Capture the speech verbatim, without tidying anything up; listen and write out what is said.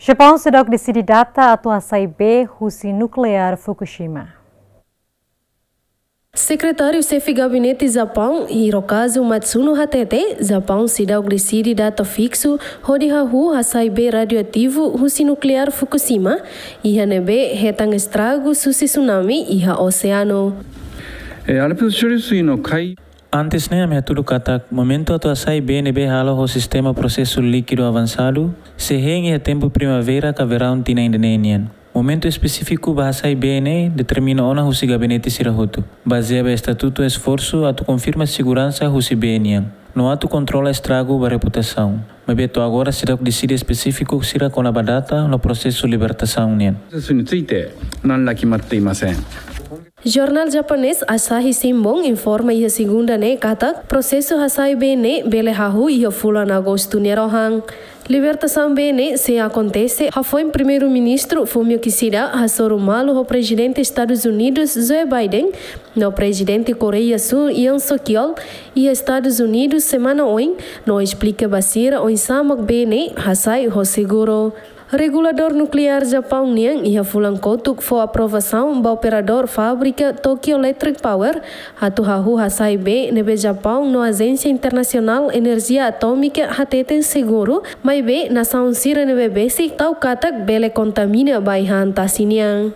Japaun seidauk deside data atu hasai bee husi nukleár Fukushima. Sekretáriu Xefe Gabinete Japaun, Hirokazu Matsuno hatete, Japaun seidauk deside data fiksu hodi hahú hasai bee radioativu husi nukleár Fukushima, iha ne'ebé hetan estragu husi tsunami iha oseanu. えー、アルプス処理水の海 Antes ne'e ami hatudu katak momentu atu hasai bee ne'ebé halo ho sistema prosesu líkidu avansadu sei hein iha tempu primavera ka veraun tinan ida-ne'e nian. Momentu espesífiku ba hasai bee ne'e determina ona husi gabinete sira hotu, bazeia ba estatutu esforsu atu konfirma seguransa husi bee nian no atu kontrola estragu ba reputasaun. Maibé to'o agora seidauk deside espesífiku sira kona-ba data no prosesu libertasaun nian. について何ら決まっていません。 Jornál japonés Asahi Shimbun informa iha segunda ne'e katak prosesu hasai bee ne'e bele hahú iha fulan agostu nia rohan. Libertasaun bee ne'e sei akontese hafoin Primeiru-Ministru Fumio Kishida hasoru malu ho Prezidente Estadus Unidus Joe Biden no Prezidente Koreia Súl Yoon Suk Yeol iha Estadus Unidus semana oin no esplika ba sira oinsá mak bee ne'e hasai ho seguru. Reguladór nukleár Japaun nian iha fulan kotuk fó aprovasaun ba operadór fábrika Tokyo Electric Power atu hahú hasai bee ne'ebé Japaun no Ajénsia Internasionál Enerjia Atómika hateten seguru, maibé nasaun sira ne'ebé besik tau katak bele kontamina ba ai-han tasi nian.